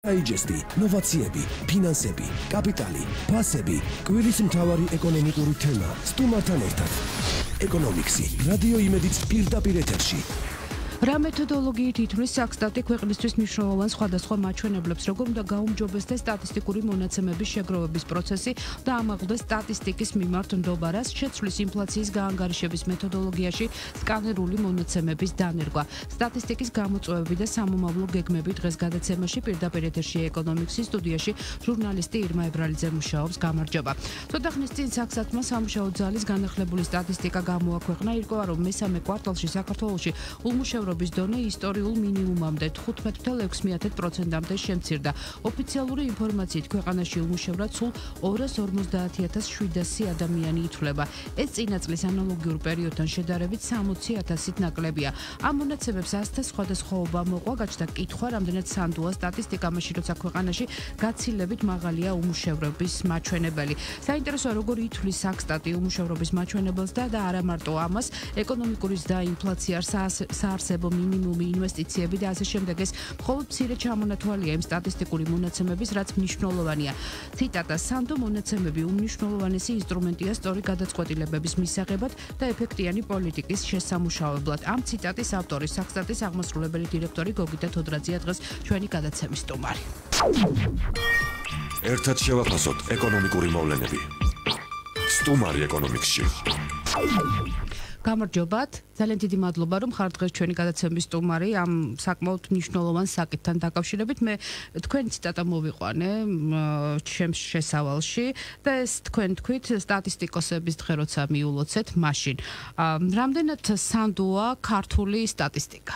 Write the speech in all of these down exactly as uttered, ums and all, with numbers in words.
დაიჯესტი, ნოვაციები, ფინანსები, კაპიტალი, ფასები, კვირის მთავარი ეკონომიკური თემა, სტუმართან ერთად. ეკონომიქსი, რადიო იმედიც პირდაპირ ეთერში. რა მეთოდოლოგიით ითვლის საქსტატი ქვეყნისთვის მნიშვნელოვან სხვადასხვა მაჩვენებლებს, როგორ უნდა გაუმჯობესდეს სტატისტიკური მონაცემების შეგროვების პროცესი და ამაღლდეს სტატისტიკის მიმართ ნდობა, რას შეცვლის ინფლაციის გაანგარიშების მეთოდოლოგიაში სკანერული მონაცემების დანერგვა. სტატისტიკის გამოწვევები და სამომავლო გეგმები დღეს გადაცემაში პირდაპირ ეთერში ეკონომიქსის სტუდიაში ჟურნალისტი ირმა ებრალიძე მუშაობს. გამარჯობა. ცოტა ხნის წინ საქსტატმა სამუშაო ძალის განახლებული სტატისტიკა გამოაქვეყნა, ირკვევა, რომ მესამე კვარტალში საქართველოში ულმუშევრობის დონე ისტორიულ მინიმუმამდე თხუთმეტ ათას ექვსმეათე პროცენტამდე შემცირდა. ოფიციალური ინფორმაციით ქვეყანაში ულმუშევრად სულ ორას ორმოცდაათი ათას შვიდასი ადამიანი ითვლება. ეს წინა წლის ანალოგიურ პერიოდთან შედარებით სამოცი ათასით ნაკლებია. ამ მონაცემებს ასთა სხვადასხვაობა მოყვა, გაჩნდა კითხვა, რამდენად სანდოა სტატისტიკა მაშინ, როცა ქვეყანაში გაცილებით მაღალია ულმუშევრობის მაჩვენებელი. საინტერესოა, როგორ ითვლის საქსტატი ულმუშევრობის მაჩვენებელს და და არა მარტო ამას, ეკონომიკური ზრდა, ინფლაცია, საარსებო მინიმუმი, ინვესტიციები და ასე შემდეგ. ეს მხოლოდ მცირე ჩამონათვალია იმ სტატისტიკური მონაცემების, რაც მნიშვნელოვანია. ციტატა: სანდო მონაცემები უმნიშვნელოვანესი ინსტრუმენტია სწორი გადაწყვეტილებების მისაღებად და ეფექტიანი პოლიტიკის შესამუშავებლად. ამ ციტატის ავტორი საქსტატის აღმასრულებელი დირექტორი გოგიტა თოდრაძეა, დღეს ჩვენი გადაცემის სტუმარი. ერთად შევაფასოთ ეკონომიკური მოვლენები. სტუმარი ეკონომიქსში. გამარჯობათ. ძალიან დიდი მადლობა, რომ ხართ დღეს ჩვენი გადაცემის სტუმარი ამ საკმაოდ მნიშვნელოვან საკითხთან დაკავშირებით. მე თქვენი ციტატა მოვიყვანე ჩემს შესავალში და ეს თქვენ თქვით სტატისტიკოსების დღე როცა მიულოცეთ, მაშინ რამდენად სანდოა ქართული სტატისტიკა?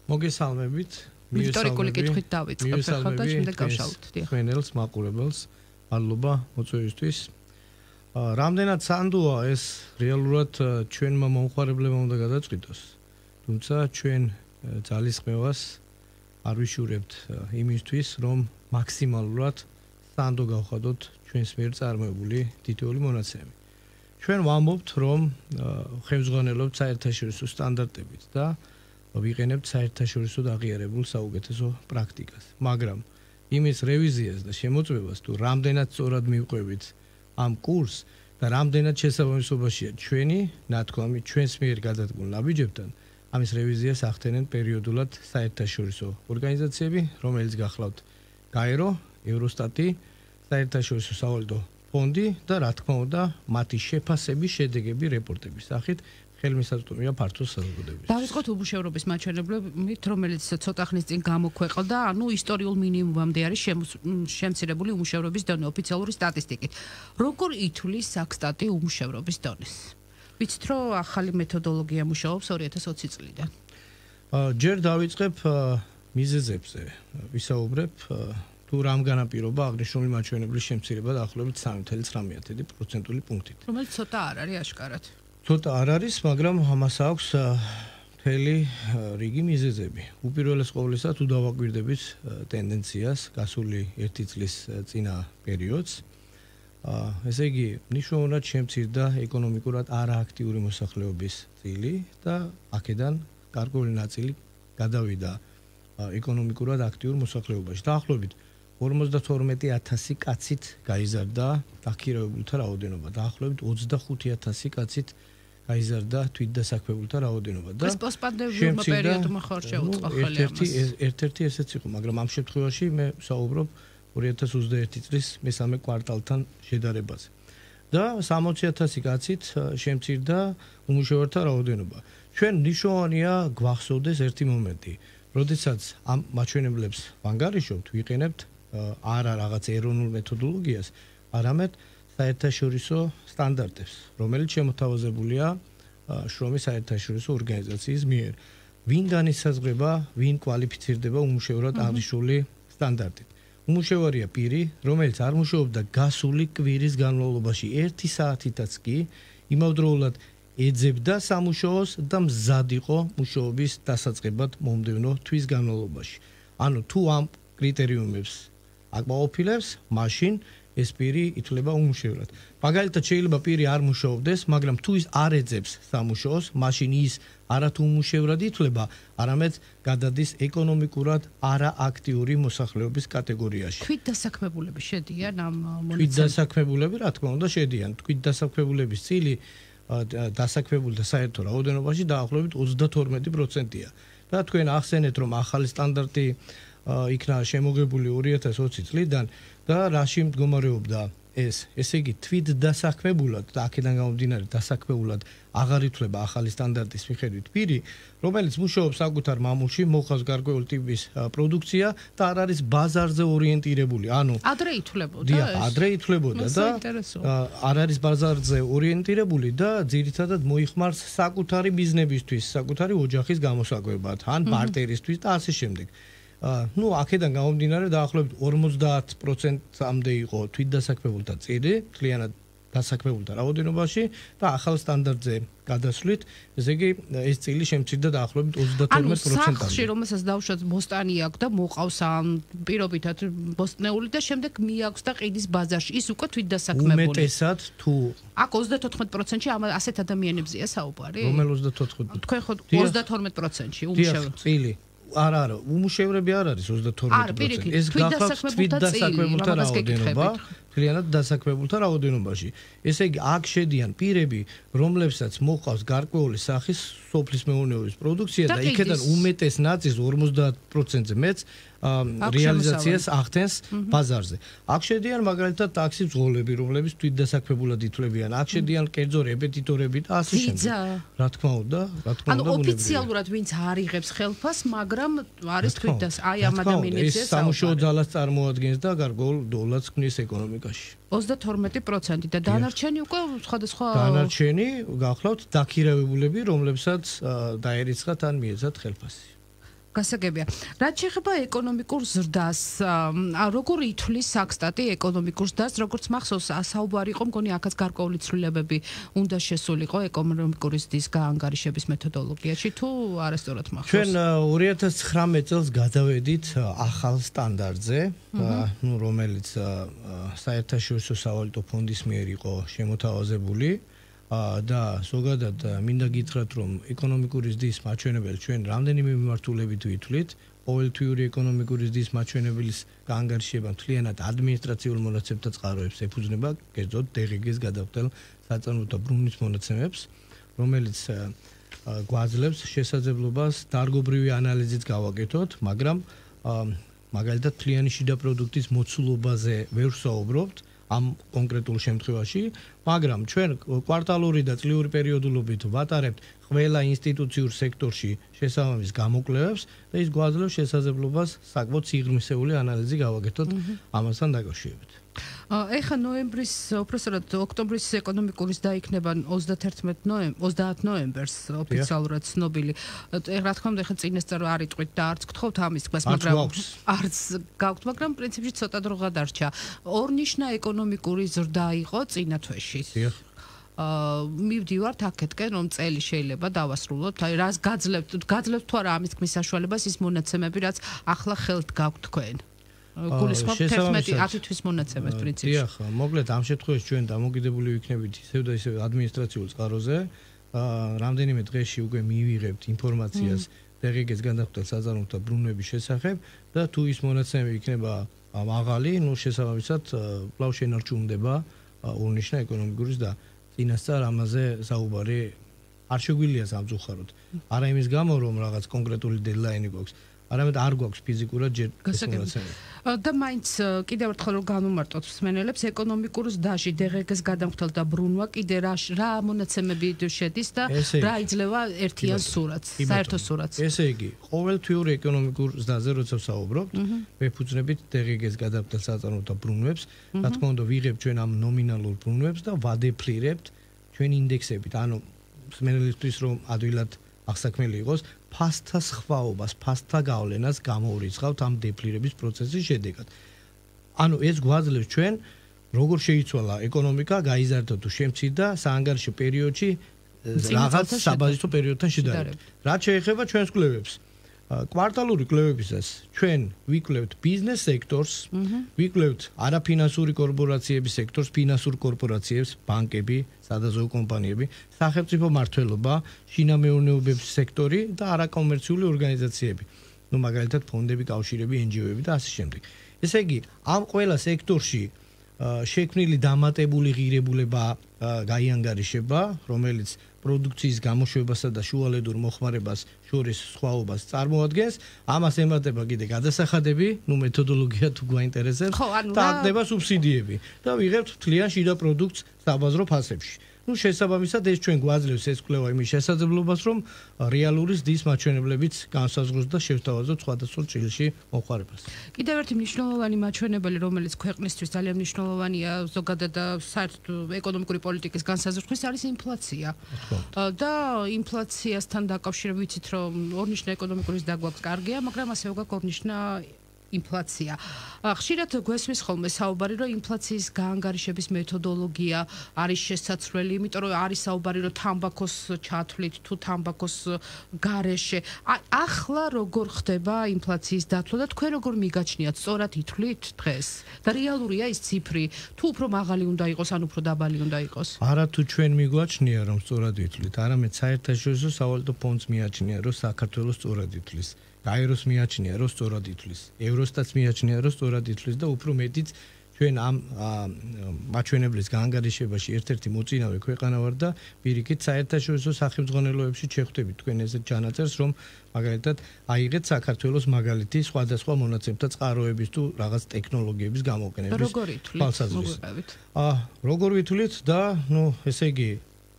მოგესალმებით. ისტორიკული კითხვით დავიწყებ ახლა და შემდეგ გავშალოთ. ხმენელს მაყურებელს მადლობა მოწვევისთვის. რამდენად სანდოა ეს რეალურად ჩვენმა მომხმარებლებმა უნდა გადაწყვიტოს. თუმცა ჩვენ ძალისხმევას არ ვიშურებთ იმისთვის, რომ მაქსიმალურად სანდო გავხადოთ ჩვენს მიერ წარმოებული თითოეული მონაცემი. ჩვენ ვამბობთ, რომ ხელმძღვანელობთ საერთაშორისო სტანდარტებით და ვიყენებთ საერთაშორისო აღიარებულ საუკეთესო პრაქტიკას. მაგრამ იმის რევიზიას და შემოწმებას თუ რამდენად სწორად მივყვებით ამ კურს და რამდენად შესაბამისობაშია ჩვენი ნათქვამი ჩვენს მიერ გადადგმულ ნაბიჯებთან, ამის რევიზიას ახდენენ პერიოდულად საერთაშორისო ორგანიზაციები, რომელიც გახლავთ გაერო, ევროსტატი, საერთაშორისო სავალუტო ფონდი და რა თქმა უნდა, მათი შეფასების შედეგები რეპორტების სახით ხელმისაწვდომია ფართო საზოგადოებისთვის. დავიწყოთ ულმუშევრობის მაჩვენებლებით, რომელიც ცოტა ხნის წინ გამოქვეყნდა, ანუ ისტორიულ მინიმუმამდე არის შემცირებული ულმუშევრობის დონე ოფიციალური სტატისტიკით. როგორ ითვლის საქსტატი ულმუშევრობის დონეს? ვიცით, რომ ახალი მეთოდოლოგია მუშაობს ორი ათას ოცი წლიდან. ჯერ დავიწყებ მიზეზებზე, ვისაუბრებ თუ რამ განაპირობა აღნიშნული მაჩვენებლის შემცირება დაახლოებით სამი ათეული ცხრამეტი პროცენტული პუნქტით. რომელიც ცოტა არ არის აშკარად. ცოტა არ არის, მაგრამ ამას აქვს მთელი რიგი მიზეზები. უპირველეს ყოვლისა, თუ დავაკვირდებით ტენდენციას გასული ერთი წლის წინა პერიოდს, ესე იგი, მნიშვნელოვნად შემცირდა ეკონომიკურად არააქტიური მოსახლეობის წილი და აქედან გარკვეული ნაწილი გადავიდა ეკონომიკურად აქტიურ მოსახლეობაში. დაახლოებით ორმოცდათორმეტი ათასი კაცით გაიზარდა დაქირავებულთა რაოდენობა, დაახლოებით ოცდახუთი ათასი კაცით გაიზარდა თვითდასაქმებულთა რაოდენობა და ეს პოსტპანდემიურ პერიოდმა ხარ შეუწყო ხელი ამას. ერთ-ერთი ესეც იყო, მაგრამ ამ შემთხვევაში მე ვსაუბრობ ორი ათას ოცდაერთი წლის მესამე კვარტალთან შედარებაზე. და სამოცი ათასი კაცით შემცირდა ულმუშევრთა რაოდენობა. ჩვენ მნიშვნელოვანია გვახსოვდეს ერთი მომენტი, როდესაც ამ მაჩვენებლებს ვანგარიშობთ, ვიყენებთ არა რაღაც ეროვნულ მეთოდოლოგიას, არამედ საერთაშორისო სტანდარტებს, რომელიც შემოთავაზებულია შრომის საერთაშორისო ორგანიზაციის მიერ. ვინ განისაზღვრება, ვინ კვალიფიცირდება ულმუშევრად აღნიშნული სტანდარტით. ულმუშევარია პირი, რომელიც არ მუშაობდა გასული კვირის განმავლობაში ერთი საათითაც კი, იმავდროულად ეძებდა სამუშაოს და მზად იყო მუშაობის დასაწყებად მომდევნო თვის განმავლობაში. ანუ თუ ამ კრიტერიუმებს აკმაყოფილებს, მაშინ ეს პირი ითვლება უმუშევრად. მაგალითად შეიძლება პირი არ მუშაობდეს, მაგრამ თუ ის არ ეძებს სამუშაოს, მაშინ ის არათუ უმუშევრად ითვლება, არამედ გადადის ეკონომიკურად არააქტიური მოსახლეობის კატეგორიაში. თვით დასაქმებულები შედიან ამ მონაცემებში? თვით დასაქმებულები, რა თქმა უნდა, შედიან. თვით დასაქმებულების წილი დასაქმებულთა საერთო რაოდენობაში დაახლოებით ოცდათორმეტი პროცენტია. და თქვენ ახსენეთ, რომ ახალი სტანდარტი იქნა შემოღებული ორი ათას ოცი წლიდან და რაში მდგომარეობდა ეს, ესე იგი თვით დასაქმებულად და აქედან გამომდინარე დასაქმებულად აღარ ითვლება ახალი სტანდარტის მიხედვით პირი, რომელიც მუშაობს საკუთარ მამულში, მოხავს გარკვეული ტიპის პროდუქცია და არ არის ბაზარზე ორიენტირებული. ანუ ადრე ითვლებოდა ეს? დიახ, ადრე ითვლებოდა და არ არის ბაზარზე ორიენტირებული და ძირითადად მოიხმარს საკუთარი ბიზნესისთვის, საკუთარი ოჯახის გამოსაკვებად, ან ბარტერისთვის და ასე შემდეგ. ну, აქედან გამომდინარე დაახლოებით ორმოცდაათ პროცენტამდე იყო თვითდასაქმებულთა წილი, მთლიანად დასაქმებულთა რაოდენობაში და ახალ სტანდარტზე გადასვლით, ესე იგი ეს წილი შემცირდა დაახლოებით ოცდათორმეტ პროცენტამდე. ანუ სახლში რომელსაც დავუშვათ ბოსტანი აქვს და მოყავს ამ პირობითად ბოსტნეული და შემდეგ მიაქვს და ყიდის ბაზარში, ის უკვე თვითდასაქმებული. უმეტესად თუ აქ ოცდათოთხმეტ პროცენტში ამ ასეთ ადამიანებზეა საუბარი? რომელ ოცდათოთხმეტ? თქვენ ხო ოცდათორმეტ პროცენტში უმუშევრები. წილი არა არა, უმუშევრები არ არის ოცდათორმეტი პროცენტი. ეს გახლავთ თვითდასაქმებულთა რაოდენობა, მთლიანად დასაქმებულთა რაოდენობაში. ესე იგი, აქ შედიან პირები, რომლებსაც მოყავს გარკვეული სახის სოფლის მეურნეობის პროდუქცია და იქედან უმეტეს ნაწილს ორმოცდაათ პროცენტზე მეც რეალიზაციას ახდენს ბაზარზე. აქ შედიან მაგალითად ტაქსის მძღოლები, რომლებიც თვითდასაქმებულად ითვლებიან. აქ შედიან კერძო რეპეტიტორები და ასე შემდეგ. რა თქმა უნდა, რა თქმა უნდა, ანუ ოფიციალურად ვინც არ იღებს ხელფას, მაგრამ არის თვითდას აი ამ ადამიანებზე საუბარი. სამუშაო ძალას წარმოადგენს და გარკვეულ დოლარს ქმნის ეკონომიკაში. ოცდათორმეტი პროცენტი და დანარჩენი უკვე სხვადასხვა დანარჩენი გახლავთ დაქირავებულები, რომლებსაც დაერიცხათ ან მიეცათ ხელფასი. გასაგებია. რაც შეეხება ეკონომიკურ ზრდას, როგორ ითვლის საქსტატი ეკონომიკურ ზრდას, როგორც მახსოვს, საუბარი იყო, მგონი აქაც გარკვეული ცვლილებები უნდა შესულიყო ეკონომიკური ზრდის გაანგარიშების მეთოდოლოგიაში, თუ არასწორად მახსოვს. ჩვენ ორი ათას ცხრამეტ წელს გადავედით ახალ სტანდარტზე, ну, რომელიც საერთაშორისო სავალუტო ფონდის მიერ იყო შემოთავაზებული. და ზოგადად მინდა გითხრათ, რომ ეკონომიკური ზრდის მაჩვენებელი ჩვენ რამდენიმე მიმართულებით ვითვლით. ყოველთვიური ეკონომიკური ზრდის მაჩვენებლის გაანგარიშება მთლიანად ადმინისტრაციულ მონაცემთა წყაროებს ეფუძნება, კერძოდ დე ღი გეს გადახდელ საწარმოო ბრუნვის მონაცემებს, რომელიც გვაძლევს შესაძლებლობას დარგობრივი ანალიზით გავაკეთოთ, მაგრამ მაგალითად მთლიანი შიდა პროდუქტის მოცულობაზე ვერ ვსაუბრობთ ამ კონკრეტულ შემთხვევაში, მაგრამ ჩვენ კვარტალური და წლიური პერიოდულობით ვატარებთ ყველა ინსტიტუციურ სექტორში შესაბამის გამოკვლევებს და ის გვაძლევს შესაძლებლობას საკმაოდ სიღრმისეული ანალიზი გავაკეთოთ ამასთან დაკავშირებით. ეხა ნოემბრის, უпроსტად ოქტომბრის ეკონომიკური ზრდა იქნება ოცდაათ ნოემბერს ოფიციალურად ცნობილი. რა თქმა უნდა, ეხა წინასწარ არ იტყვით და არც გთხოვთ ამის თქმას, მაგრამ არც გაქვთ, მაგრამ პრინციპში ცოტა დრო გადარჩა. ორნიშნა ეკონომიკური ზრდა იყო წინა თვეში. აა მივდივართ აქეთკენ, რომ წელი შეიძლება დავასრულოთ. აი რას გაძლევთ, გაძლევთ თუ არა ამის თქმის საშუალებას ის მონაცემები, რაც ახლა ხელთ გაქვთ თქვენ. გულისხმობ თერთმეტი ათი თვის მონაცემებს პრინციპში. დიახ, მოკლედ ამ შემთხვევაში ჩვენ დამოკიდებული ვიქნებით ისევ და ისევ ადმინისტრაციულ წყაროზე. აა რამდენიმე დღეში უკვე მივიღებთ ინფორმაციას დე ღი გეს გადახდელ საწარმოო ბრუნვების შესახებ და თუ ის მონაცემები იქნება მაღალი, ну შესაბამისად კვლავ შენარჩუნდება ორნიშნა ეკონომიკური ზრდა. წინასწარ ამაზე საუბარი არ შეგვიძლია სამწუხაროდ. არა იმის გამო, რომ რაღაც კონკრეტული დედლაინი გვაქვს, არამედ არ გვაქვს ფიზიკურად ჯერ ეს მონაცემები. და მაინც კიდევ ერთხელ რომ განვმარტოთ მსმენელებს, ეკონომიკურ ზრდაში დე ღი გეს გადამხდელ და ბრუნვა კიდე რა რა მონაცემები შედის და რა იძლევა ერთიან სურათს, საერთო სურათს. ესე იგი, ყოველთვიურ ეკონომიკურ ზრდაზე როცა ვსაუბრობთ, ვეფუძნებით დე ღი გეს გადამხდელ საწარმოო ბრუნვებს, რა თქმა უნდა, ვიღებთ ჩვენ ამ ნომინალურ ბრუნვებს და ვადეფლირებთ ჩვენ ინდექსებით. ანუ მსმენელისთვის რომ ადვილად აღსაქმელი იყოს, ფასთა სხვაობას, ფასთა გავლენას გამოურიცხავთ ამ დეფლირების პროცესის შედეგად. ანუ ეს გვაძლევს ჩვენ როგორ შეიცვალა ეკონომიკა, გაიზარდა თუ შემცირდა საანგარიშო პერიოდში რაღაც საბაზისო პერიოდთან შედარებით. რაც შეეხება ჩვენს კვლევებს, კვარტალური კვლევებისას ჩვენ ვიკვლევთ ბიზნეს სექტორს, ვიკვლევთ არაფინანსური კორპორაციების სექტორს, ფინანსურ კორპორაციებს, ბანკები, სადაზოო კომპანიები, სახელმწიფო მმართველობა, შინამეურნეობის სექტორი და არაკომერციული ორგანიზაციები. ნუ მაგალითად ფონდები, კავშირები, εν ჯი ო-ები და ასე შემდეგ. ესე იგი, ამ ყველა სექტორში შექმნილი დამატებული ღირებულება გაიანგარიშება, რომელიც პროდუქციის გამოშვებასა და შუალედურ მოხმარებას შორის სხვაობას წარმოადგენს. ამას ემატება კიდე გადასახადები, ნუ მეთოდოლოგია თუ გვაინტერესებს და აღდება სუბსიდიები და ვიღებთ მთლიან შიდა პროდუქტს საბაზრო ფასებში. ნუ შესაბამისად ეს ჩვენ გვაძლევს ეს კვლევა იმის შესაძლებლობას, რომ რეალური ზრდის მაჩვენებლებიც განსაზღვროს და შევთავაზოთ სხვადასხვა წილში მოხმარებას. კიდევ ერთი მნიშვნელოვანი მაჩვენებელი, რომელიც ქვეყნისთვის ძალიან მნიშვნელოვანია ზოგადად და საერთოდ ეკონომიკური პოლიტიკის განსაზღვრის, არის ინფლაცია. და ინფლაციასთან დაკავშირებით ვიცით, რომ ორნიშნა ეკონომიკური ზრდა გვაქვს კარგია, მაგრამ ასევე გვაქვს ორნიშნა ინფლაცია. ხშირად გვესმის ხოლმე საუბარი, რომ ინფლაციის გაანგარიშების მეთოდოლოგია არის შესაძლებელი, იმიტომ რომ არის საუბარი, რომ თამბაქოს ჩათვლით თუ თამბაქოს გარეშე. ახლა როგორ ხდება ინფლაციის დათვლა და თქვენ როგორ მიგაჩნიათ, სწორად ითვლით დღეს? და რეალურია ის ციფრი, თუ უფრო მაღალი უნდა იყოს, ან უფრო დაბალი უნდა იყოს? არა თუ ჩვენ მიგვაჩნია, რომ სწორად ითვლით, არამედ საერთაშორისო სავალუტო ფონდს მიაჩნია, რომ საქართველოს სწორად ითვლის. გაეროს მიაჩნია, რომ სწორად ითვლის. ევროსტატს მიაჩნია, რომ სწორად ითვლის და უფრო მეტიც ჩვენ ამ მაჩვენებლის გაანგარიშებაში ერთ-ერთი მოწინავე ქვეყანა ვარ და პირიქით საერთაშორისო სახელმძღვანელოებში შეხვდებით თქვენ ესეთ ჩანაწერს, რომ მაგალითად აიღეთ საქართველოს მაგალითი სხვადასხვა მონაცემთა წყაროების თუ რაღაც ტექნოლოგიების გამოყენების თვალსაზრისით. აა როგორ ვითვლით და ნუ ესე იგი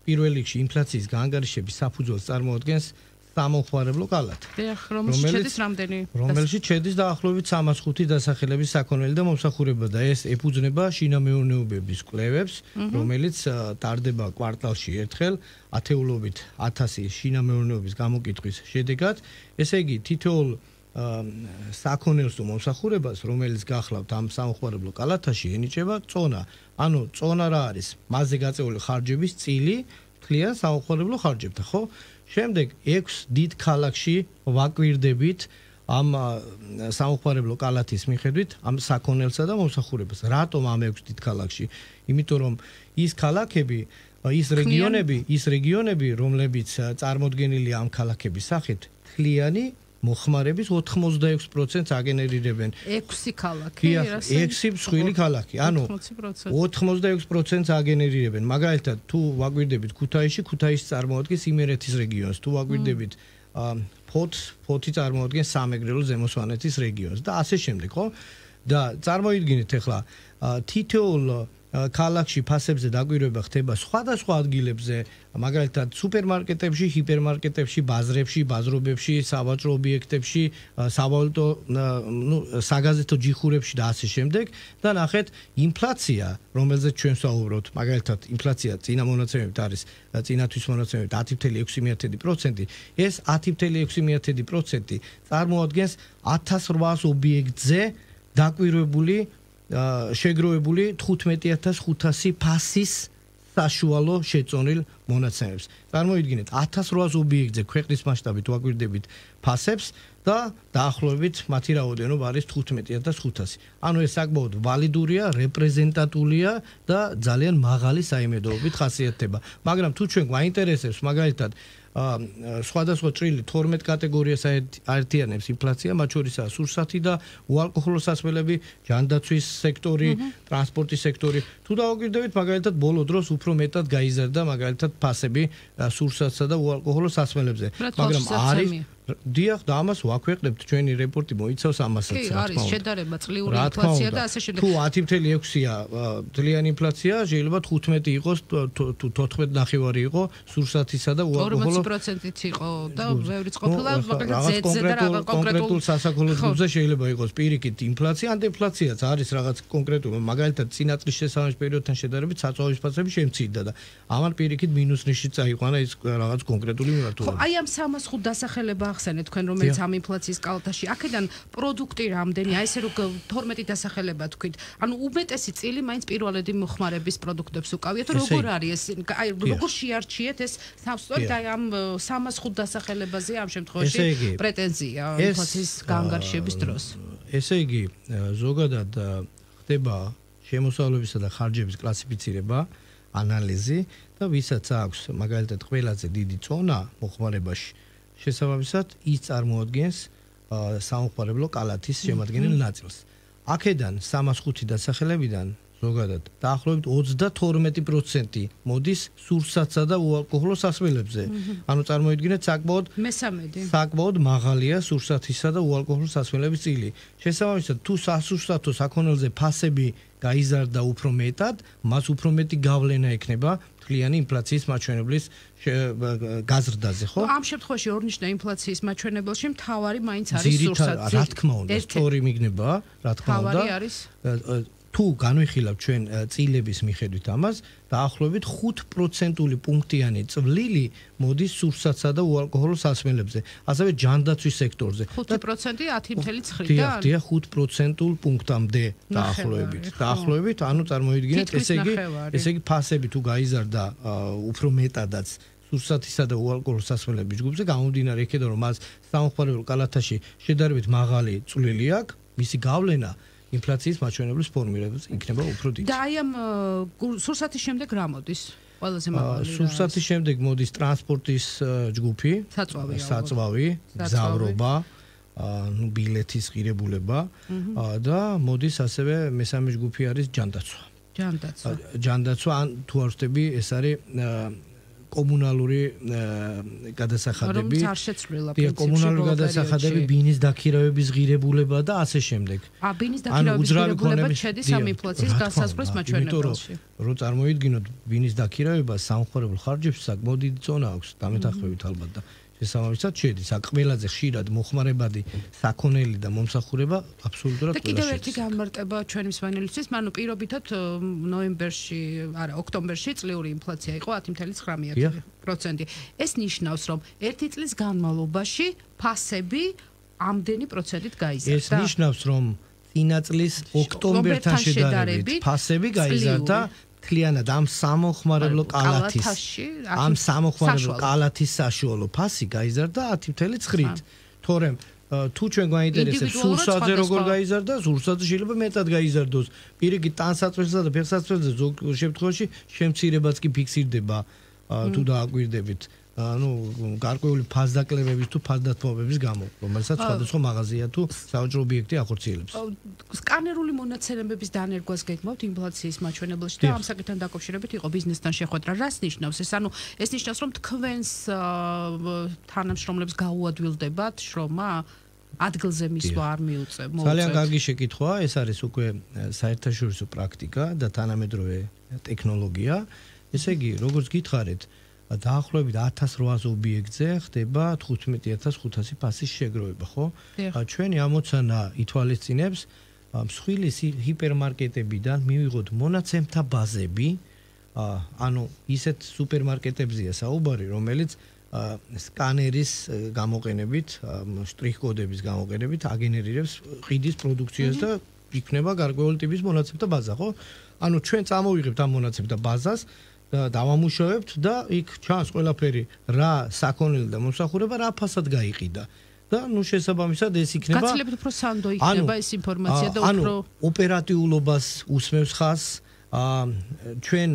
პირველ რიგში ინფლაციის გაანგარიშების საფუძველს წარმოადგენს სამოხმარებლო კალათი. რომელშიც შედის რამდენი? რომელშიც შედის დაახლოებით სამას ხუთი დასახელების საქონელი და მომსახურება და ეს ეფუძნება შინამეურნეობების კვლევებს, რომელიც ტარდება კვარტალში ერთხელ ათეულობით ათასი შინამეურნეობის გამოკითხვის შედეგად. ესე იგი, თითოეულ საქონელს თუ მომსახურებას, რომელიც გახლავთ ამ სამოხმარებლო კალათაში, ენიჭება წონა. ანუ წონა რა არის? მასზე გაწეული ხარჯების წილი მთლიან სამოხმარებლო ხარჯებთან, ხო? შემდეგ ექვს დიდ ქალაქში ვაკვირდებით ამ სამოხმარებლო კალათის მიხედვით ამ საქონელსა და მომსახურებას. რატომ ამ ექვს დიდ ქალაქში? იმიტომ რომ ის ქალაქები, ის რეგიონები, ის რეგიონები, რომლებიც წარმოდგენილია ამ ქალაქების სახით, თლიანი მოხმარების ოთხმოცდაექვს პროცენტს აგენერირებენ. ექვსი ქალაქი, ექვსი მსხვილი ქალაქი. ანუ ოთხმოცდაექვს პროცენტს აგენერირებენ. მაგალითად, თუ ვაკვირდებით ქუთაისში, ქუთაისი წარმოადგენს იმერეთის რეგიონს. თუ ვაკვირდებით ფოთს, ფოთი წარმოადგენს სამეგრელო ზემო სვანეთის რეგიონს და ასე შემდეგ, ხო? და წარმოიდგინეთ ახლა თითოეულ ქალაქში ფასებზე დაკვირვება ხდება სხვადასხვა ადგილებზე, მაგალითად სუპერმარკეტებში, ჰიპერმარკეტებში, ბაზრებში, ბაზრობებში, სავაჭრო ობიექტებში, სავალუტო, ნუ საგაზეთო ჯიხურებში და ასე შემდეგ და ნახეთ ინფლაცია, რომელზეც ჩვენ ვსაუბრობთ, მაგალითად ინფლაცია წინა მონაცემებით არის წინათვის მონაცემებით ათი ფاصლე ექვსი პროცენტი, ეს ათი ფاصლე ექვსი პროცენტი წარმოადგენს ათას რვაას ობიექტზე დაკვირვებული შეგროვებული თხუთმეტი ათას ხუთასი ფასის საშუალო შეწონილ მონაცემებს. წარმოიდგინეთ, ათას რვაას ობიექტზე ქვეყნის მასშტაბით ვაკვირდებით ფასებს და დაახლოებით მათი რაოდენობა არის თხუთმეტი ათას ხუთასი. ანუ ეს საკმაოდ ვალიდურია, რეპრეზენტატულია და ძალიან მაღალი საიმედოობით ხასიათდება. მაგრამ თუ ჩვენ გვაინტერესებს მაგალითად სხვადასხვა წრილი თორმეტ კატეგორიას აერთიანებს ინფლაცია, მათ შორისაა სურსათი და უალკოჰოლო სასმელები, ჯანდაცვის სექტორი, ტრანსპორტის სექტორი. თუ დავაკვირდებით, მაგალითად, ბოლო დროს უფრო მეტად გაიზარდა მაგალითად ფასები სურსათსა და უალკოჰოლო სასმელებზე. მაგრამ არის დიახ, და ამას ვაქვეყნებთ, ჩვენი რეპორტი მოიცავს ამასაც. კი, არის შედარება წლიური ინფლაცია და ასე შემდეგ. თუ ათი ფاصლე ექვსია ძლიერი ინფლაცია, შეიძლება თხუთმეტი იყოს, თუ თოთხმეტი ნახევარი იყო სურსათისა და უალკოჰოლო ორმოცი პროცენტიც იყო და ბევრიც ყოფილა, მაგალითად ზედზე და რაღაც კონკრეტულ სასაქონლო ჯგუფზე შეიძლება იყოს პირიქით ინფლაცია, ან დეფლაციაც არის რაღაც კონკრეტული, მაგალითად წინა წლის შესაბამის პერიოდთან შედარებით საწვავის ფასები შემცირდა და ამან პირიქით მინუს ნიში წაიყვანა ის რაღაც კონკრეტული მიმართულება. ხო, აი ამ სამას ხუთ დასახელება გაახსენეთ თქვენ რომელიც ამ ინფლაციის კალათაში აქედან პროდუქტი რამდენი აი ესე რომ თორმეტი დასახელება თქვით ანუ უმეტესი წილი მაინც პირველადი მოხმარების პროდუქტებს უკავიათ როგორ არის ეს აი როგორ შეარჩიეთ ეს სწორედ აი ამ სამას ხუთ დასახელებაზე ამ შემთხვევაში პრეტენზია ინფლაციის განგარიშების დროს ესე იგი ზოგადად ხდება შემოსავლებისა და ხარჯების კლასიფიცირება ანალიზი და ვისაც აქვს მაგალითად ყველაზე დიდი წონა მოხმარებაში შესაბამისად ის წარმოადგენს სამოხმარებლო კალათის შემადგენელ ნაწილს. აქედან სამას ხუთი დასახელებიდან ზოგადად დაახლოებით ოცდათორმეტი პროცენტი მოდის სურსათსა და უალკოჰოლო სასმელებზე. ანუ წარმოიდგინეთ საკმაოდ მესამედი. საკმაოდ მაღალია სურსათისა და უალკოჰოლო სასმელების წილი. შესაბამისად თუ სასურსათო საქონელზე ფასები გაიზარდა უფრო მეტად, მას უფრო მეტი გავლენა ექნება მთლიანი ინფლაციის მაჩვენებლის გაზრდაზე, ხო? ამ შემთხვევაში ორნიშნა ინფლაციის მაჩვენებელში მთავარი მაინც არის სურსათი. რა თქმა უნდა, სწორი მიგნება, რა თქმა უნდა. მთავარი არის თუ განვიხილავთ ჩვენ წილების მიხედვით ამას, დაახლოებით ხუთ პროცენტული პუნქტიანი წვლილი მოდის სურსათსა და უალკოჰოლო სასმელებზე, ასევე ჯანდაცვის სექტორზე. ხუთი პროცენტი ათი წუთი ხრიდან? დიახ, ხუთ პროცენტულ პუნქტამდე დაახლოებით. დაახლოებით, ანუ წარმოიდგინეთ, ესე იგი, ესე იგი ფასები თუ გაიზარდა უფრო მეტადაც სურსათისა და უალკოჰოლო სასმელების ჯგუფზე, გამომდინარე იქედან რომ მას სამოხმარებლო კალათაში შედარებით მაღალი წვლილი აქვს, მისი გავლენა ინფლაციის მაჩვენებლის ფორმირებას იქნება უფრო დიდი. და აი ამ სურსათის შემდეგ რა მოდის? ყველაზე მაღალი. სურსათის შემდეგ მოდის ტრანსპორტის ჯგუფი, საწვავი, საწვავი, გზავრობა, ну ბილეთის ღირებულება და მოდის ასევე მესამე ჯგუფი არის ჯანდაცვა. ჯანდაცვა. ჯანდაცვა ან თუ არ ვთქვი, ეს არის კომუნალური გადასახადები. რომელიც არ შეცვლილა პრინციპში. კომუნალური გადასახადები, ბინის დაქირავების ღირებულება და ასე შემდეგ. ა ბინის დაქირავების ღირებულება შედის ამ ინფლაციის განსაზღვრის მაჩვენებელში. რო წარმოიდგინოთ ბინის დაქირავება სამხმარებლო ხარჯებში საკმაოდ დიდი წონა აქვს, დამეთანხმებით ალბათ და შესაბამისად შედის. აქ ყველაზე ხშირად მოხმარებადი საქონელი და მომსახურება აბსოლუტურად ყველა შედის. და კიდევ ერთი განმარტება ჩვენი მსმენელისთვის, ანუ პირობითად ნოემბერში, არა, ოქტომბერში წლიური ინფლაცია იყო ათი წუთი ცხრამეტი პროცენტი. ეს ნიშნავს, რომ ერთი წლის განმავლობაში ფასები ამდენი პროცენტით გაიზარდა. ეს ნიშნავს, რომ წინა წლის ოქტომბერთან შედარებით ფასები გაიზარდა მთლიანად ამ სამოხმარებლო კალათის ამ სამოხმარებლო კალათის საშუალო ფასი გაიზარდა ათი წუთი ცხრით. თორემ თუ ჩვენ გვაინტერესებს სურსათზე როგორ გაიზარდა, სურსათზე შეიძლება მეტად გაიზარდოს. პირიქით ტანსაცმელსა და ფეხსაცმელზე ზოგ შემთხვევაში შემცირებაც კი ფიქსირდება თუ დააკვირდებით. ну გარკვეული ფასდაკლებების თუ ფასდათმობების გამო, რომელსაც სხვადასხვა მაღაზია თუ საოჯრო ობიექტი ახორციელებს. სკანერული მონაცემების დანერგვას გეკმავთ ინფლაციის მაჩვენებელში და ამ საკითხთან დაკავშირებით იყო ბიზნესთან შეხვედრა. რას ნიშნავს ეს? ანუ ეს ნიშნავს, რომ თქვენს თანამშრომლებს გაუადვილდებათ შრომა ადგილზე მისვლა არ მიუწევ. ძალიან კარგი შეკითხვაა, ეს არის უკვე საერთაშორისო პრაქტიკა და თანამედროვე ტექნოლოგია. ესე იგი, როგორც გითხარით, დაახლოებით ათას რვაასი ობიექტზე ხდება თხუთმეტი ათას ხუთასი ფასის შეგროვება, ხო? ჩვენი ამოცანა ითვალისწინებს მსხვილი ჰიპერმარკეტებიდან მივიღოთ მონაცემთა ბაზები, ანუ ისეთ სუპერმარკეტებზია საუბარი, რომელიც სკანერის გამოყენებით, შტრიხ-კოდების გამოყენებით აგენერირებს ყიდის პროდუქციას და იქნება გარკვეული ტიპის მონაცემთა ბაზა, ხო? ანუ ჩვენ წამოვიღებთ ამ მონაცემთა ბაზას და დავამუშავებთ და იქ ჩანს ყველაფერი, რა საქონელი და მომსახურება რა ფასად გაიყიდა. და ნუ შესაბამისად ეს იქნება გაცილებით უფრო სანდო იქნება ეს ინფორმაცია და უფრო ოპერატიულობას უსმევს ხაზს. ჩვენ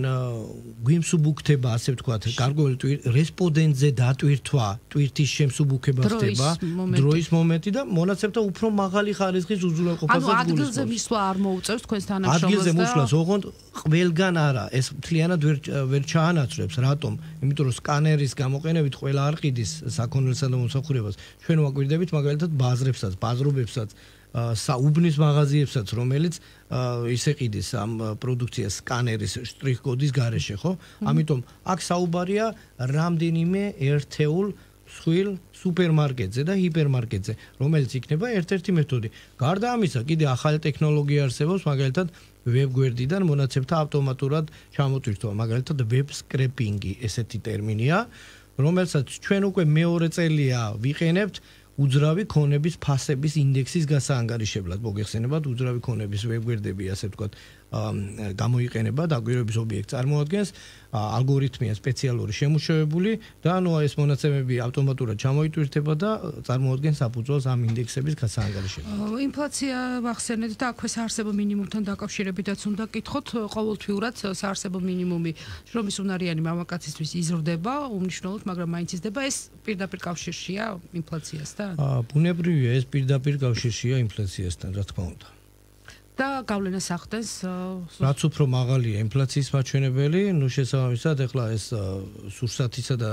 გვიმსუბუქდება, ასე ვთქვათ, გარკვეული რესპონდენტზე დატვირთვა, ტვირთის შემსუბუქება ხდება, დროის მომენტი და მონაცემთა უფრო მაღალი ხარისხის უზრუნველყოფასაც გულისხმობს. ანუ ადგილზე მისვლა არ მოუწევს თქვენს თანამშრომლებს და ადგილზე მოსვლას ოღონდ ყველგან არა, ეს მთლიანად ვერ ვერ ჩაანაცვლებს. რატომ? იმიტომ რომ სკანერის გამოყენებით ყველა არ ყიდის საქონელსა და მომსახურებას. ჩვენ ვაკვირდებით მაგალითად ბაზრებსაც, ბაზრობებსაც, საუბნის მაღაზიებსაც, რომელიც ისე ყიდის ამ პროდუქციას სკანერის შტრიხ-კოდის გარეშე, ხო? ამიტომ აქ საუბარია რამდენიმე ერთეულ მსხვილ სუპერმარკეტზე და ჰიპერმარკეტზე, რომელიც იქნება ერთ-ერთი მეთოდი. გარდა ამისა, კიდე ახალი ტექნოლოგია არსებობს, მაგალითად ვებგვერდიდან მონაცემთა ავტომატურად ჩამოტვირთვა, მაგალითად ვებ სკრეპინგი, ესეთი ტერმინია. რომელსაც ჩვენ უკვე მეორე წელია ვიყენებთ უძრავი ქონების ფასების ინდექსის გასაანგარიშებლად. მოგეხსენებათ, უძრავი ქონების ვებგვერდები, ასე ვთქვათ, გამოიყენება დაკვირვების ობიექტს წარმოადგენს, ალგორითმია სპეციალური შემუშავებული და ნუ ეს მონაცემები ავტომატურად ჩამოიტვირთება და წარმოადგენს საფუძველს ამ ინდექსების გასაანგარიშებლად. ინფლაცია ვახსენეთ და აქვე საარსებო მინიმუმთან დაკავშირებითაც უნდა კითხოთ, ყოველთვიურად საარსებო მინიმუმი შრომის უნარიანი მამაკაცისთვის იზრდება უმნიშვნელოდ, მაგრამ მაინც იზრდება. ეს პირდაპირ კავშირშია ინფლაციასთან? ბუნებრივია, ეს პირდაპირ კავშირშია ინფლაციასთან, რა თქმა უნდა. და გავლენას ახდენს რაც უფრო მაღალია ინფლაციის მაჩვენებელი, ნუ შესაბამისად ეხლა ეს სურსათისა და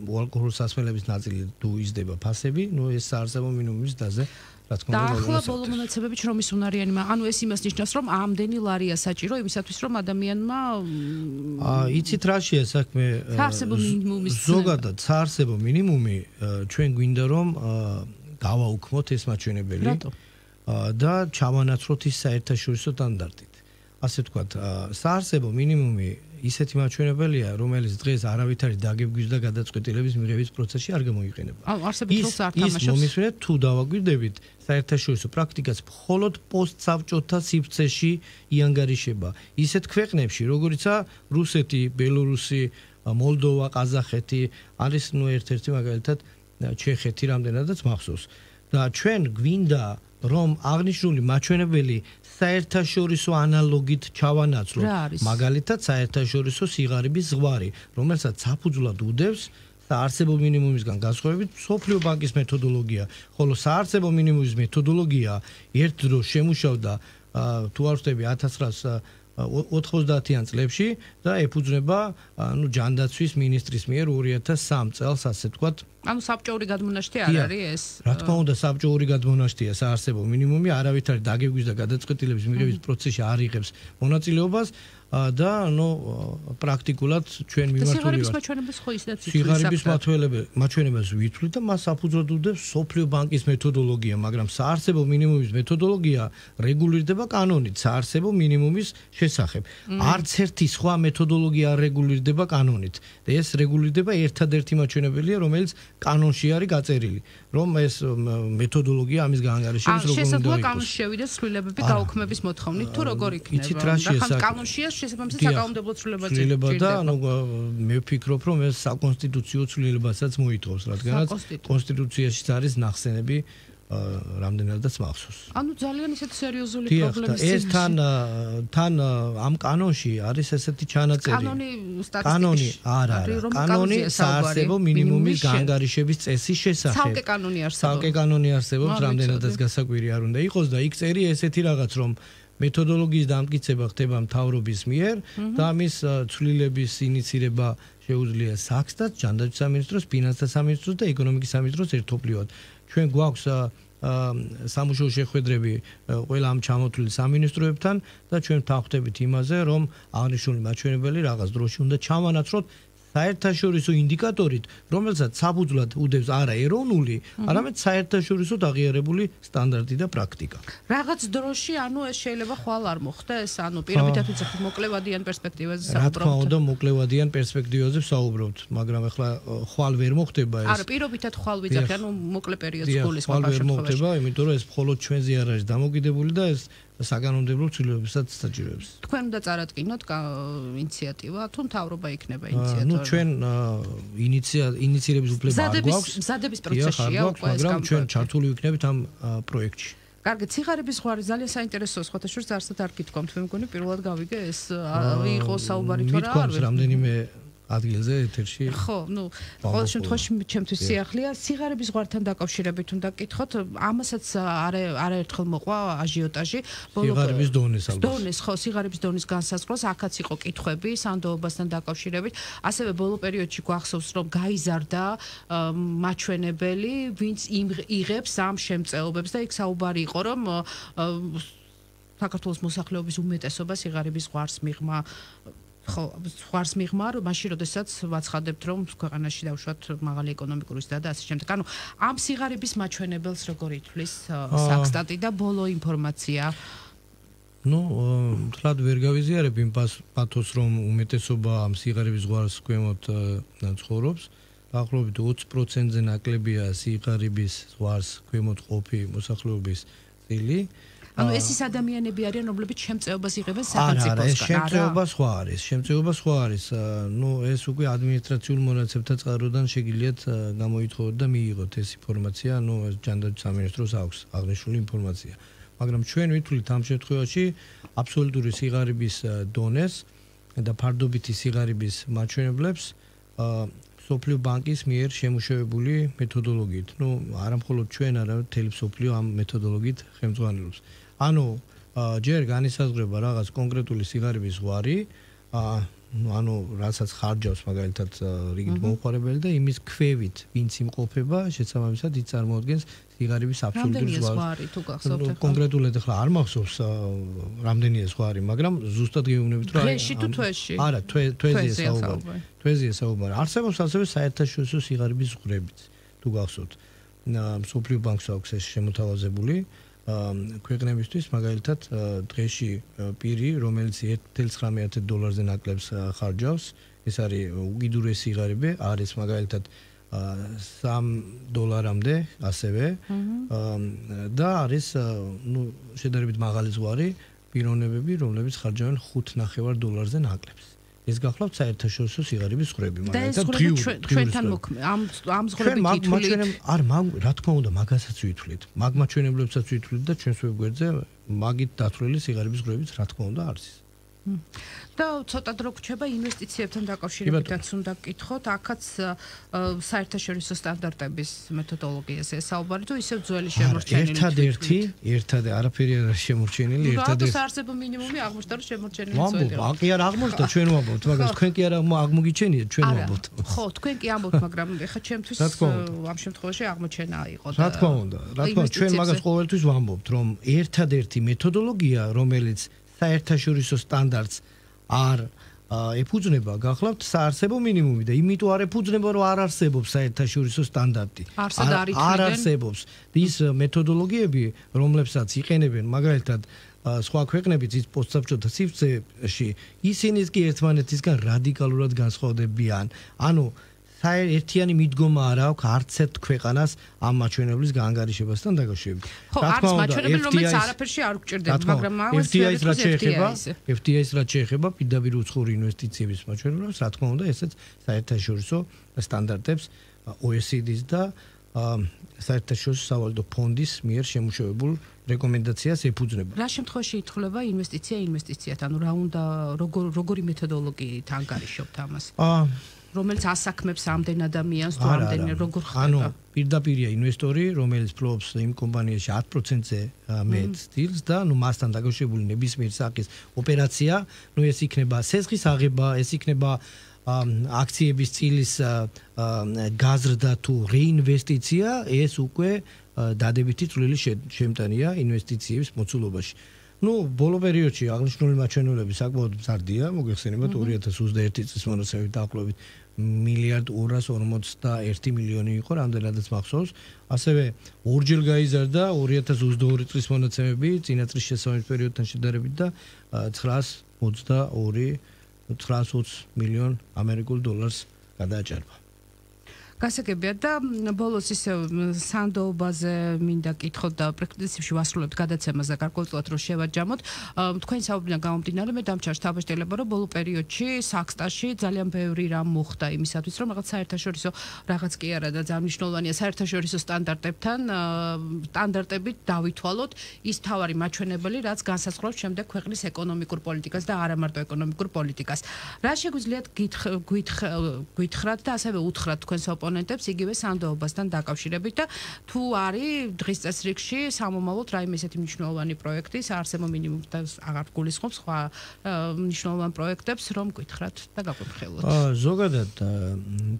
ალკოჰოლურ სასმელების ნაწილი თუ იზრდება ფასები, ნუ ეს საარსებო მინიმუმის დაზე რა თქმა უნდა. და ახლა ბოლო მონაცემები შრომის უნარიანი, ანუ ეს იმას ნიშნავს, რომ ამდენი ლარია საჭირო იმისათვის, რომ ადამიანმა აა იცით რაშია საქმე? საარსებო მინიმუმის ზოგადად საარსებო მინიმუმი ჩვენ გვინდა რომ გავაუქმოთ ეს მაჩვენებელი. რატო? და ჩავანაცვლოთ ის საერთაშორისო სტანდარტით. ასე ვთქვათ, საარსებო მინიმუმი ისეთი მაჩვენებელია, რომელიც დღეს არავით არის დაგებგვის და გადაწყვეტილების მიღების პროცესში არ გამოიყენება. ანუ არსებით როლს არ თამაშობს. ის მომისმენთ თუ დავაგვირდებით საერთაშორისო პრაქტიკას მხოლოდ პოსტსაბჭოთა სივრცეში იანგარიშება. ისეთ ქვეყნებში, როგორიცაა რუსეთი, ბელორუსი, მოლდოვა, ყაზახეთი, არის ნუ ერთ-ერთი მაგალითად ჩეხეთი რამდენადაც მახსოვს. და ჩვენ გვინდა რომ აღნიშნული მაჩვენებელი საერთაშორისო ანალოგით ჩავანაცვლოთ, მაგალითად საერთაშორისო სიღარიბის ზღვარი, რომელსაც საფუძვლად უდევს საარსებო მინიმუმისგან განსხვავებით მსოფლიო ბანკის მეთოდოლოგია, ხოლო საარსებო მინიმუმის მეთოდოლოგია ერთ დროს შემუშავდა თუ არ ვთქვი ათას ცხრაასა ოთხმოცდაათიან წლებში და ეფუძნება ანუ ჯანდაცვის მინისტრის მიერ ორი ათას სამი წელს, ასე ვთქვათ. ანუ საბჭოური გადმონაშთი არ არის ეს? რა თქმა უნდა, საბჭოური გადმონაშთია საარსებო მინიმუმი, არავით არის დაგებგვის და გადაწყვეტილების მიღების პროცესში არ იღებს მონაწილეობას და ნუ პრაქტიკულად ჩვენ მიმართული ვართ. სიღარიბის მაჩვენებელს ხო ისედაც ითვლით? სიღარიბის მაჩვენებელს ვითვლით და მას საფუძვლად უდევს მსოფლიო ბანკის მეთოდოლოგია, მაგრამ საარსებო მინიმუმის მეთოდოლოგია რეგულირდება კანონით საარსებო მინიმუმის შესახებ. არც ერთი სხვა მეთოდოლოგია არ რეგულირდება კანონით. და ეს რეგულირდება ერთადერთი მაჩვენებელია, რომელიც კანონში არის გაწერილი, რომ ეს მეთოდოლოგია ამის გაანგარიშების როგორ უნდა იყოს. შესაძლოა კანონში შევიდეს ცვლილებები გაუქმების მოთხოვნით, თუ როგორ იქნება? იცით რაშია საქმე? კანონშია შესაბამისად საკანონმდებლო ცვლილებაც ცვლილება და ანუ მე ვფიქრობ, რომ ეს საკონსტიტუციო ცვლილებასაც მოითხოვს, რადგანაც კონსტიტუციაშიც არის ნახსენები რამდენადაც მახსოვს. ანუ ძალიან ისეთ სერიოზული ეს პრობლემის წინაშე. თან თან ამ კანონში არის ესეთი ჩანაწერი. კანონი სტატისტიკის. კანონი არა, კანონი საარსებო მინიმუმის გაანგარიშების წესის შესახებ. ცალკე კანონი არსებობს. ცალკე კანონი არსებობს, რამდენადაც გასაკვირი არ უნდა იყოს და იქ წერი ესეთი რაღაც, რომ მეთოდოლოგიის დამტკიცება ხდება მთავრობის მიერ და ამის ცვლილების ინიცირება შეუძლია საქსტად, ჯანდაცვის სამინისტროს, ფინანსთა სამინისტროს და ეკონომიკის სამინისტროს ერთობლივად. ჩვენ გვაქვს სამუშაო შეხვედრები ყველა ამ ჩამოთვლილ სამინისტროებთან და ჩვენ ვთანხმდებით იმაზე, რომ აღნიშნული მაჩვენებელი რაღაც დროში უნდა ჩავანაცვლოთ საერთაშორისო ინდიკატორით, რომელსაც საფუძვლად უდევს არა ეროვნული, არამედ საერთაშორისო აღიარებული სტანდარტი და პრაქტიკა. რაღაც დროში, ანუ ეს შეიძლება ხვალ არ მოხდეს, ანუ პირობითად ვიცით მოკლევადიან პერსპექტივაზე საუბრობთ. რა თქმა უნდა, მოკლევადიან პერსპექტივაზე ვსაუბრობთ, მაგრამ ახლა ხვალ ვერ მოხდება ეს. არა, პირობითად ხვალ ვიცით, ანუ მოკლე პერიოდს გულისხმობ ხვალ ვერ მოხდება, იმიტომ რომ ეს მხოლოდ ჩვენზე არ არის დამოკიდებული და ეს საკანონმდებლო ცვლილებებსაც საჭიროებს. თქვენ უნდა წარადგინოთ ინიციატივა, თუ მთავრობა იქნება ინიციატორი? ნუ ჩვენ ინიციირების უფლება არ გვაქვს. მზადების პროცესშია უკვე ეს მაგრამ ჩვენ ჩართული ვიქნებით ამ პროექტში. კარგი, ციხარების ზღვარი ძალიან საინტერესოა, სხვათა შორის არსად არ გითქვამთ, მე მგონი პირველად გავიგე ეს იყო საუბარი თუ რა არ ვიცი. რამდენიმე ადგილზე ეთერში. ხო, ნუ ყოველ შემთხვევაში ჩემთვის სიახლეა სიღარიბის ზღვართან დაკავშირებით უნდა გკითხოთ, ამასაც არაერთხელ მოყვა აჟიოტაჟი. სიღარიბის დონეს ალბათ. დონეს, ხო, სიღარიბის დონის განსაზღვრას აქაც იყო კითხვები სანდოობასთან დაკავშირებით. ასევე ბოლო პერიოდში გვახსოვს, რომ გაიზარდა მაჩვენებელი, ვინც იღებს ამ შემწეობებს და იქ საუბარი იყო, რომ საქართველოს მოსახლეობის უმეტესობა სიღარიბის ზღვარს მიღმა ხო, ზღვარს მიღმა, მაშინ როდესაც ვაცხადებთ, რომ ქვეყანაში დავუშვათ მაღალი ეკონომიკური ზრდა და ასე შემდეგ. ანუ ამ სიღარიბის მაჩვენებელს როგორ ითვლის საქსტატი და ბოლო ინფორმაცია? ნუ, თლად ვერ გავიზიარებ იმ პათოს, რომ უმეტესობა ამ სიღარიბის ზღვარს ქვემოთ ცხოვრობს. დაახლოებით ოცი პროცენტზე ნაკლებია სიღარიბის ზღვარს ქვემოთ ყოფი მოსახლეობის წილი. ანუ ეს ის ადამიანები არიან, რომლებიც შემწეობას იღებენ სახელმწიფოსგან. არა, ეს სახელმწიფოსგან. შემწეობა სხვა არის. შემწეობა სხვა არის. ნუ ეს უკვე ადმინისტრაციულ მონაცემთა წყაროდან შეგიძლიათ ა, გამოითხოვოთ და მიიღოთ ეს ინფორმაცია. ნუ ეს ჯანდაცვის სამინისტროს აქვს აღნიშნული ინფორმაცია. მაგრამ ჩვენ ვითვლით ამ შემთხვევაში აბსოლუტური სიღარიბის ა, დონეს და ფარდობითი სიღარიბის მაჩვენებლებს ა, სოფლიო ბანკის მიერ შემუშავებული მეთოდოლოგიით. ნუ არა მხოლოდ ჩვენ, არამედ მთელი სოფლიო ამ მეთოდოლოგიით ხელმძღვანელობს. ანუ ჯერ განისაზღვრება რაღაც კონკრეტული სიღარიბის ზღვარი, ანუ რასაც ხარჯავს მაგალითად რიგით მომხმარებელი და იმის ქვევით ვინც იმყოფება, შესაბამისად ის წარმოადგენს სიღარიბის აბსოლუტურ ზღვარს. კონკრეტულად ახლა არ მახსოვს რამდენია ზღვარი, მაგრამ ზუსტად გეუბნებით რომ დღეში თუ თვეში? არა, თვეზეა საუბარი. თვეზეა საუბარი. არსებობს ასევე საერთაშორისო სიღარიბის ზღვრებიც, თუ გახსოვთ. სოფლიო ბანკს აქვს ეს შემოთავაზებული. ქვეყნებისთვის მაგალითად დღეში პირი, რომელიც ერთი წუთი ცხრამეტ დოლარზე ნაკლებს ხარჯავს, ეს არის უკიდურესი სიღარიბე, არის მაგალითად სამ დოლარამდე ასევე და არის ნუ შედარებით მაღალი ზღვარი პიროვნებები, რომლებიც ხარჯავენ ხუთ ნახევარ დოლარზე ნაკლებს. ეს გახლავთ საერთაშორისო სიღარიბის ზღვრები, მაგალითად ჩვენთან ამ ამ ზღვრებით ითვლით. არ რა თქმა უნდა, მაგასაც ვითვლით. მაგ მაჩვენებლებსაც ვითვლით და ჩვენს ვებგვერდზე მაგით დათვლილი სიღარიბის ზღვრებიც რა თქმა უნდა არის. და ცოტა დრო გვჩება ინვესტიციებთან დაკავშირებითაც უნდა გკითხოთ, აქაც საერთაშორისო სტანდარტების მეთოდოლოგიაზე საუბარი თუ ისევ ძველი შემორჩენილი. ერთადერთი, ერთადერთი არაფერი არ არის შემორჩენილი, ერთადერთი. რატო საარსებო მინიმუმი აღმოჩნდა რომ შემორჩენილი ძველი. ვამბობ, აკი არ აღმოჩნდა, ჩვენ ვამბობთ, მაგრამ თქვენ კი არ აღმოგიჩენიათ, ჩვენ ვამბობთ. ხო, თქვენ კი ამბობთ, მაგრამ ეხლა ჩემთვის ამ შემთხვევაში აღმოჩენა იყო და რა თქმა უნდა, რა თქმა უნდა, ჩვენ მაგას ყოველთვის ვამბობთ, რომ ერთადერთი მეთოდოლოგია, რომელიც საერთაშორისო სტანდარტს არ ეფუძნება, გახლავთ საარსებო მინიმუმი და იმიტომ არ ეფუძნება, რომ არ არსებობს საერთაშორისო სტანდარტი. არ არსებობს ის მეთოდოლოგიები, რომლებსაც იყენებენ მაგალითად სხვა ქვეყნებიც ის პოსტსაბჭოთა სივრცეში, ისინიც კი ერთმანეთისგან რადიკალურად განსხვავდებიან. ანუ ერთიანი მიდგომა არ აქვს არც ერთ ქვეყანას ამ მაჩვენებლის გაანგარიშებასთან დაკავშირებით. ხო, არის მაჩვენებელი, რომელიც არაფერში არ გვჭირდება, მაგრამ ეს ეს რაც შეეხება, ეფ თი აის რაც შეეხება პირდაპირ უცხოური ინვესტიციების მაჩვენებლებს, რა თქმა უნდა, ესეც საერთაშორისო სტანდარტებს ო ე სი დის და საერთაშორისო სავალუტო ფონდის მიერ შემუშავებულ რეკომენდაციას ეფუძნება. რა შემთხვევაში ითვლება ინვესტიცია ინვესტიციად, ანუ რა უნდა როგორი მეთოდოლოგიით ანგარიშობთ ამას? აა რომელიც ასაქმებს ამდენ ადამიანს თუ ამდენ როგორ ხდება? ანუ პირდაპირია ინვესტორი, რომელიც ფლობს იმ კომპანიაში ათ პროცენტზე მეტ სტილს და ნუ მასთან დაკავშირებული ნებისმიერ სახის ოპერაცია, ნუ ეს იქნება სესხის აღება, ეს იქნება აქციების წილის გაზრდა თუ რეინვესტიცია, ეს უკვე დადებითი წვლილი შემტანია ინვესტიციების მოცულობაში. ნუ ბოლო პერიოდში აღნიშნული მაჩვენებლები საკმაოდ მზარდია, მოგეხსენებათ ორი ათას ოცდაერთი წლის მონაცემებით დაახლოებით მილიარდ ორას ორმოცდაერთი მილიონი იყო, რამდენადაც მახსოვს. ასევე ორჯერ გაიზარდა ორი ათას ოცდაორი წლის მონაცემები წინა წლის შესაბამის პერიოდთან შედარებით და ცხრაას ოცდაორი ცხრაას ოცი მილიონ ამერიკულ დოლარს გადააჭარბა. გასაგებია და ბოლოს ისე სანდოობაზე მინდა კითხოთ და პრინციპში ვასრულებთ გადაცემას და გარკვეულწილად რომ შევაჯამოთ. თქვენ საუბრიდან გამომდინარე მე დამჩარს თავშეშლება რომ ბოლო პერიოდში საქსტაში ძალიან ბევრი რამ მოხდა იმისათვის რომ რაღაც საერთაშორისო რაღაც კი არა და ძალიან მნიშვნელოვანია საერთაშორისო სტანდარტებთან სტანდარტებით დავითვალოთ ის თავარი მაჩვენებელი რაც განსაზღვრავს შემდეგ ქვეყნის ეკონომიკურ პოლიტიკას და არა მარტო ეკონომიკურ პოლიტიკას. რა შეგვიძლიათ გითხრათ და ასევე უთხრათ თქვენს ოპონენტებს იგივე სანდოობასთან დაკავშირებით და თუ არის დღის წესრიგში სამომავლოდ რაიმე ესეთი მნიშვნელოვანი პროექტი საარსებო მინიმუმს აღარ გულისხმობს სხვა მნიშვნელოვან პროექტებს რომ გითხრათ და გაგვიფრთხილოთ. ზოგადად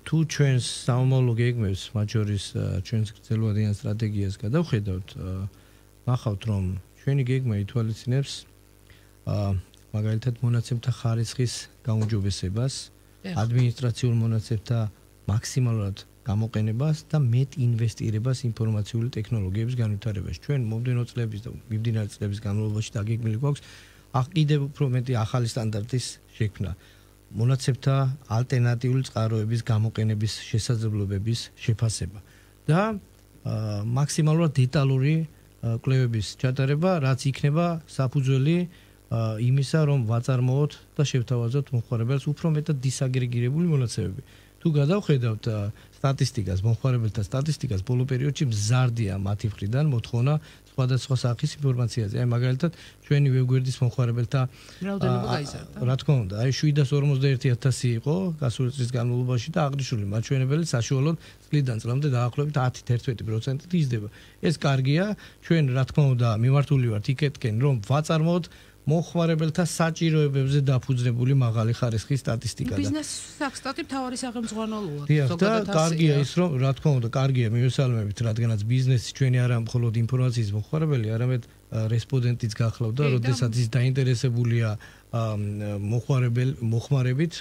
თუ ჩვენს სამომავლო გეგმებს მათ შორის ჩვენს გრძელვადიან სტრატეგიას გადავხედავთ, ნახავთ რომ ჩვენი გეგმა ითვალისწინებს მაგალითად მონაცემთა ხარისხის გაუმჯობესებას, ადმინისტრაციულ მონაცემთა მაქსიმალურად გამოყენებას და მეტ ინვესტირებას ინფორმაციული ტექნოლოგიების განვითარებაში. ჩვენ მომდენო წლების და მიმდინარე წლების განმავლობაში დაგეგმილი გვაქვს კიდევ უფრო მეტი ახალი სტანდარტის შექმნა. მონაცემთა ალტერნატიული წყაროების გამოყენების შესაძლებლობების შეფასება და მაქსიმალურად დეტალური კვლევების ჩატარება, რაც იქნება საფუძველი იმისა, რომ ვაწარმოოთ და შევთავაზოთ მომხმარებელს უფრო მეტად დისაგრეგირებული მონაცემები. თუ გადავხედავთ სტატისტიკას, მომხმარებელთა სტატისტიკას, ბოლო პერიოდში მზარდია მათი მხრიდან მოთხოვნა სხვადასხვა სახის ინფორმაციაზე. აი მაგალითად, ჩვენი ვებგვერდის მომხმარებელთა რაოდენობა გაიზარდა. რა თქმა უნდა, აი შვიდას ორმოცდაერთი ათასი იყო გასული წლის განმავლობაში და აღნიშნული მაჩვენებელი საშუალოდ წლიდან წლამდე დაახლოებით ათი ერთექვსი პროცენტით იზრდება. ეს კარგია, ჩვენ რა თქმა უნდა მიმართული ვართ იქეთკენ, რომ ვაწარმოოთ მომხმარებელთა საჭიროებებზე დაფუძნებული მაღალი ხარისხის სტატისტიკა და ბიზნეს საქსტატი მთავარი სახელმძღვანელოა. და კარგია ის, რომ რა თქმა უნდა, კარგია მივესალმებით, რადგანაც ბიზნესი ჩვენი არა მხოლოდ ინფორმაციის მომხმარებელი, არამედ რესპონდენტიც გახლავდა, როდესაც ის დაინტერესებულია მომხმარებელ მომხმარებით,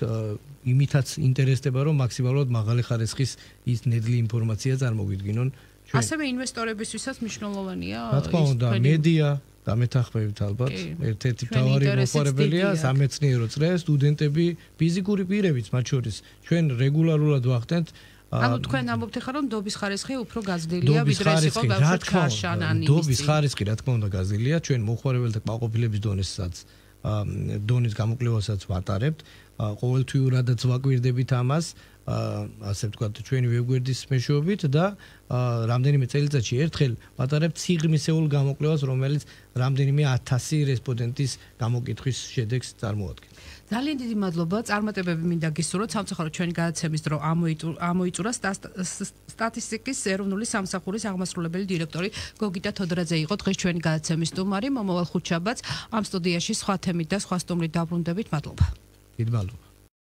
იმითაც ინტერესდება, რომ მაქსიმალურად მაღალი ხარისხის ის ნედლი ინფორმაცია წარმოგვიდგინონ ჩვენ. ასევე ინვესტორებისთვისაც მნიშვნელოვანია. რა თქმა უნდა, მედია დამეთანხმებით ალბათ ერთ-ერთი მთავარი მომხმარებელია სამეცნიერო წრე, სტუდენტები, ფიზიკური პირებიც მათ შორის. ჩვენ რეგულარულად ვახდენთ ანუ თქვენ ამბობთ ხარ რომ დობის ხარისხი უფრო გაზრდილია ვიდრე ეს იყო ბავშვებთან. დობის ხარისხი რა თქმა უნდა გაზრდილია, ჩვენ მომხმარებელთა კმაყოფილების დონესაც დონის გამოკვლევასაც ვატარებთ. ყოველთვიურადაც ვაკვირდებით ამას, ასე ვთქვათ, ჩვენი ვებგვერდის მეშვეობით და რამდენიმე წელიწადში ერთხელ ვატარებთ სიღრმისეულ გამოკვლევას, რომელიც რამდენიმე ათასი რესპონდენტის გამოკითხვის შედეგს წარმოადგენს. ძალიან დიდი მადლობა. წარმატებები მინდა გისურვოთ. სამწუხაროდ ჩვენი გადაცემის დრო ამოიწურა. სტატისტიკის ეროვნული სამსახურის აღმასრულებელი დირექტორი გოგიტა თოდრაძე იყო დღეს ჩვენი გადაცემის სტუმარი. მომავალ ხუთშაბათს ამ სტუდიაში სხვა თემით და სხვა სტუმრით დაბრუნდებით. მადლობა. დიდი მადლობა.